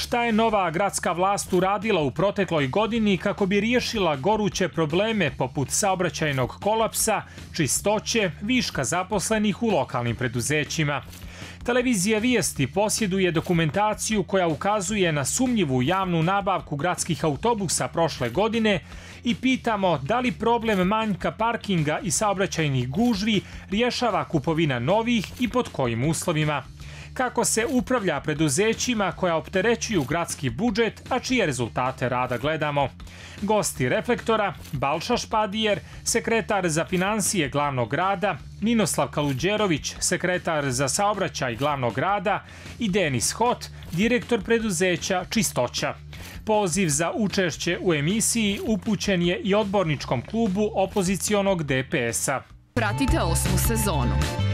Šta je nova gradska vlast uradila u protekloj godini kako bi riješila goruće probleme poput saobraćajnog kolapsa, čistoće, viška zaposlenih u lokalnim preduzećima? Televizija Vijesti posjeduje dokumentaciju koja ukazuje na sumnjivu javnu nabavku gradskih autobusa prošle godine i pitamo da li problem manjka parkinga i saobraćajnih gužvi rješava kupovina novih i pod kojim uslovima. Kako se upravlja preduzećima koja opterećuju gradski budžet, a čije rezultate rada gledamo. Gosti Reflektora, Balša Špadijer, sekretar za financije glavnog grada, Ninoslav Kaluđerović, sekretar za saobraćaj glavnog grada i Denis Hot, direktor preduzeća Čistoća. Poziv za učešće u emisiji upućen je i odborničkom klubu opozicionog DPS-a. Pratite 8. sezonu.